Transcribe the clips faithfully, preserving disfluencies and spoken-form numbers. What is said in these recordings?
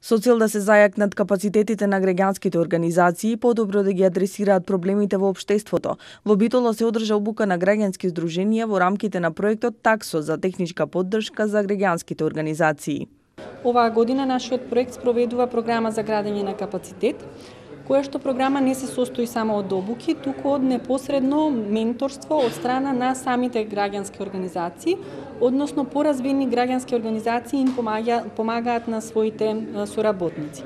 Со цел да се зајакнат капацитетите на граѓанските организации, подобро да ги адресираат проблемите во општеството, во Битола се одржа обука на граѓански здруженија во рамките на проектот Таксо за техничка поддршка за граѓанските организации. Оваа година нашиот проект спроведува програма за градење на капацитет, која што програма не се состои само од обуки, туку од непосредно менторство од страна на самите граѓански организации, односно поразвени граѓански организации им помагаат на своите соработници.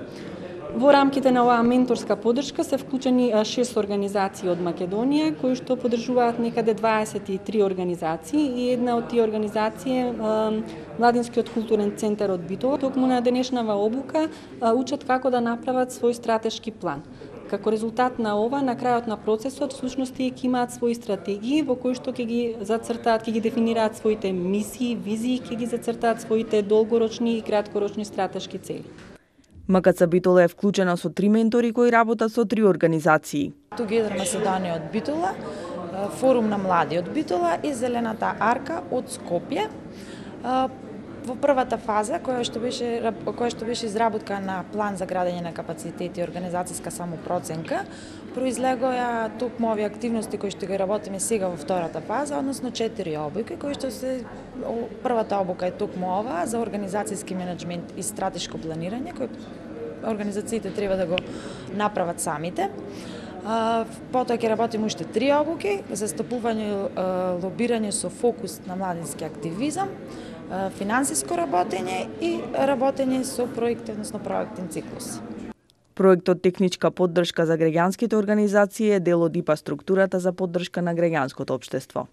Во рамките на оваа менторска поддршка се вклучени шест организации од Македонија, кои што поддржуваат некаде дваесет и три организации и една од тие организации е Младинскиот културен центар од Битола. Токму на денешнава обука учат како да направат свој стратешки план. Како резултат на ова, на крајот на процесот, всушност тие ќе имаат своји стратегии во кои што ќе ги зацртаат, ќе ги дефинираат своите мисии, визии, ќе ги зацртаат своите долгорочни и краткорочни стратешки цели. МКЦ Битола е вклучена со три ментори кои работат со три организации. Together Macedonia од Битола, Форум на млади од Битола и Зелената арка од Скопје. Во првата фаза, која што беше која што беше изработка на план за градење на капацитет и организацијска самопроценка, произлегоа токму овие активности кои што ги работиме сега во втората фаза, односно четири обуки кои што се првата обука е токму ова за организацијски менеджмент и стратешко планирање кој организациите треба да го направат самите. Потоа ќе работиме уште три обуки за застапување и лобирање со фокус на младински активизам, финансиско работење и работење со проекти, односно проектен циклус. Проектот Техничка поддршка за граѓанските организации е дел од ИПА структурата за поддршка на граѓанското општество.